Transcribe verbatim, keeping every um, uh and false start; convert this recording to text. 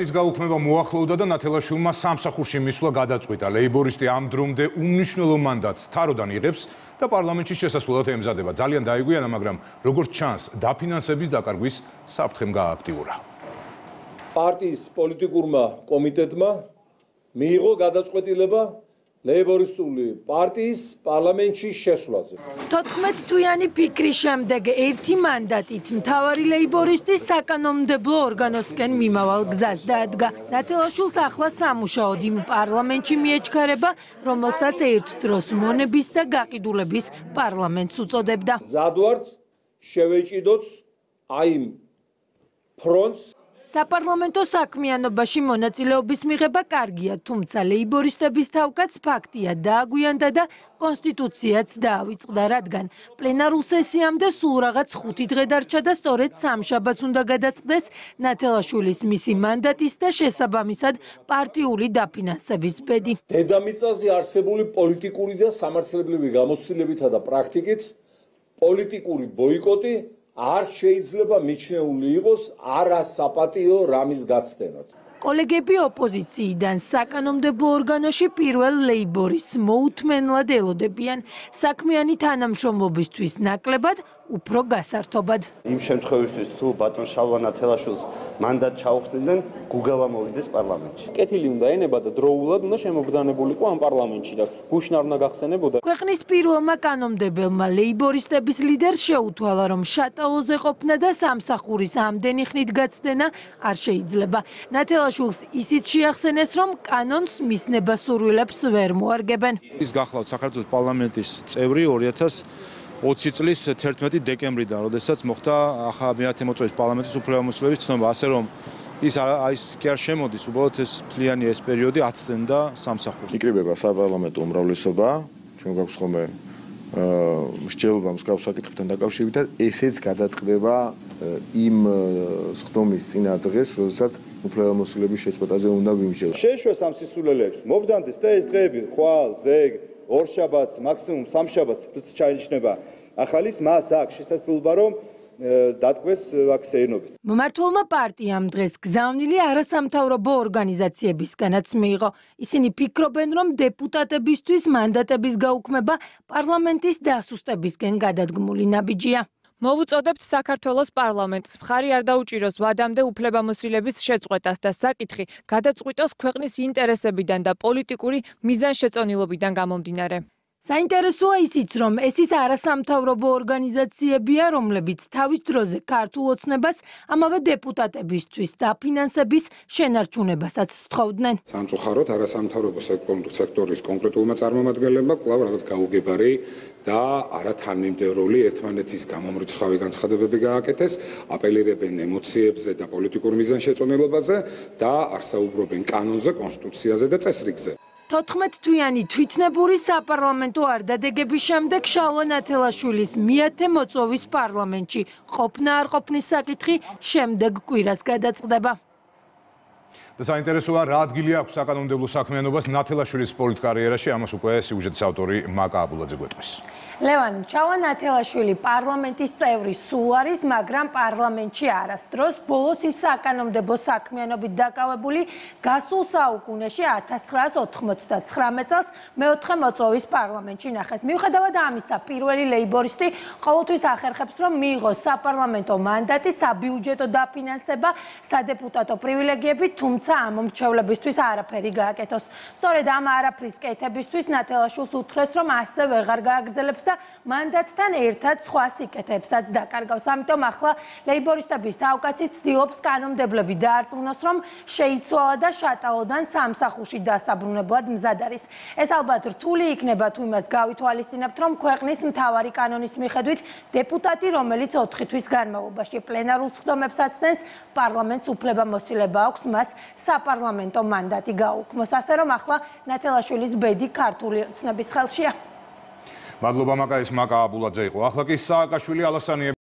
ის გაუქმება მოახლოვდა და ნათელაშვილმა სამსახურში მისვლა გადაწყვიტა. ლეიბორისტი ამ დრომდე უმნიშვნელო მანდატს თაროდან იღებს და პარლამენტში შესასვლელად ემზადება. ძალიან დაეგვიანა, მაგრამ როგორც ჩანს, დაფინანსების დაკარგვის საფრთხემ გაააქტიურა. პარტიის პოლიტიკურმა კომიტეტმა მიიღო გადაწყვეტილება ლეიბორისტული პარტიის პარლამენტში შესვლაზე. თოთხმეტ თვიანი ფიქრის შემდეგ ერთი მანდატით მთავარი ლეიბორისტი საკანონმდებლო ორგანოსკენ მიმავალ გზას დაადგა. ნათელაშვილს ახლა სამუშაოდ იმ პარლამენტში მიეჩქარება, რომელსაც ერთ დროს მონების და გაყიდულების პარლამენტს უწოდებდა. ზადვართ შევეჭიდოთ აი იმ ფრონტს. საპარლამენტო საქმიანობაში მონაწილეობის მიღება კარგია, თუმცა ლეიბორისტების თავკაც ფაქტია დააგვიანდა და კონსტიტუციაც დაავიწყდა, რადგან პლენარულ სესიამდე სულ რაღაც ხუთი დღე დარჩა და სწორედ სამშაბათს უნდა გადაწყდეს ნათელაშვილის მისი მანდატის და შესაბამისად პარტიული დაფინანსების ბედი. დედამიწაზე არსებული პოლიტიკური და სამართლებრივი გამოცდილებითა და პრაქტიკით პოლიტიკური ბოიკოტი არ შეიძლება მიჩნეული იყოს არასაპატიო რამის გაცდენად. კოლეგები ოპოზიციიდან საკანონმდებლო ორგანოში პირველ ლეიბორისტს მოუთმენლად ელოდებიან საქმიანი თანამშრომლობისთვის ნაკლებად, უფრო გასართობად. იმ შემთხვევისთვის თუ ბატონ შალვა ნათელაშვილს მანდატ ჩაუხსნიდნენ, გუგავა მოვიდეს პარლამენტში. კეთილი უნდა ენება და დროულად უნდა შემოგბრძანებულიყო ამ პარლამენტში და გუშინ არ უნდა გახსენებოდა. ქვეყნის პირველმა კანონმდებელმა ლეიბორისტების ლიდერს შეუთვალა, რომ შატალოზე ყოფნა და სამსახურის ამდენი ხნით გაცდენა არ შეიძლება. ნათელაშვილს ისიც შეახსენეს, რომ კანონს მისნება სურვილებს ვერ მოარგებენ. ის გახლავთ საქართველოს პარლამენტის წევრი ორი ათას ოცი წლის თერთმეტი დეკემბრიდან, როდესაც მოხდა მეათე მოწვევის პარლამენტის უფლებამოსილების ცნობა, ასე რომ ის ის კი არ შემოდის, უბრალოდ ეს მთლიანი ეს პერიოდი აცდენდა სამსახურს. იკრიბება საპარლამენტო უმრავლესობა, ჩვენ გვაქვს ხოლმე მსჯელობა მსგავს საკითხებთან დაკავშირებით და ესეც გადაწყდება იმ სხდომის წინა დღეს, როდესაც უფლებამოსილების შეწყვეტაზე უნდა ვიმსჯელოთ. შეეშვეს ამ სისულელეებს, მობრძანდეს და ეს დღეები ხვალ, ზეგ, ორშაბათს, მაქსიმუმ სამშაბათს ჩაინიშნება ახალის მას აქვს შესაძლებლობა რომ დატყვეს ვაქსეინობით. მომართულმა პარტიამ დღეს გზავნილი არასამთავრობო ორგანიზაციებისგანაც მიიღო. ისინი ფიქრობენ, რომ დეპუტატებისთვის მანდატების გაუქმება პარლამენტის დასუსტებისკენ გადადგმული ნაბიჯია. მოვუწოდებთ საქართველოს პარლამენტს, მხარი არ დაუჭიროს ვადამდე უფლებამოსილების შეწყვეტას და საკითხი გადაწყვიტოს ქვეყნის ინტერესებიდან და პოლიტიკური მიზანშეწონილობიდან გამომდინარე. საინტერესოა ისიც, რომ ეს ის არასამთავრობო ორგანიზაციებია, რომლებიც თავის დროზე ქართულ ოცნებას, ამავე დეპუტატებისთვის დაფინანსების შენარჩუნებასაც სთხოვდნენ. სამწუხაროდ არასამთავრობო სექტორის კონკრეტულმა წარმომადგენლებმა კვლავ რაღაც გაუგებარი და არათანმიმდევრული ერთმანეთის გამომრიცხავი განცხადებები გააკეთეს, აპელირებენ ემოციებზე და პოლიტიკურ მიზანშეწონილობაზე და არ საუბრობენ კანონზე, კონსტიტუციაზე და წესრიგზე. თოთხმეტ თვიანი თვითნებური საპარლამენტო არდადეგების შემდეგ შალვა ნათელაშვილის მეათე მოწვევის პარლამენტში ყოფნა არ ყოფნის საკითხი შემდეგ კვირას გადაწყდება. და საინტერესოა, რა ადგილი აქვს საკანონმდებლო საქმიანობას ნათელაშვილის პოლიტკარიერაში, ამას უკვე სიუჟეტის ავტორი მაკა აბულაძე გვეტყვის. ლევან, შალვა ნათელაშვილი პარლამენტის წევრი სულ არის, მაგრამ პარლამენტში არასდროს. ბოლოს ის საკანონმდებლო საქმიანობით დაკავებული გასულ საუკუნეში ათას ცხრაას ოთხმოცდათხრამეტ წელს მეოთხე მოწვევის პარლამენტში ნახეს. მიუხედავად ამისა, პირველი ლეიბორისტი ყოველთვის ახერხებს, რომ მიიღოს საპარლამენტო მანდატი, საბიუჯეტო დაფინანსება, სადეპუტატო პრივილეგიები, თუმცა ამ მომრჩევლებისთვის არაფერი გააკეთოს. სწორედ ამ არაფრის კეთებისთვის ნათელაშვილს უთხრეს, რომ ასე ვეღარ გააგრძელებს და მანდატთან ერთად სხვა სიკეთეებსაც დაკარგავს. ამიტომ ახლა ლეიბორისტების თავკაცი ცდილობს კანონმდებლები დაარწმუნოს, რომ შეიცვალა და შატალოდან სამსახურში დასაბრუნებლად მზად არის. ეს ალბათ რთული იქნება, თუ იმას გავითვალისწინებთ, რომ ქვეყნის მთავარი კანონის მიხედვით დეპუტატი, რომელიც ოთხი თვის განმავლობაში პლენარულ სხდომებს აცდენს, პარლამენტს უფლებამოსილება აქვს მას საპარლამენტო მანდატი გაუქმოს. ასე რომ ახლა ნათელაშვილის ბედი ქართული ოცნების ხელშია. მადლობა მაკა, ეს მაკა აბულაძე იყო. ახლა კი სააკაშვილი ალასანიე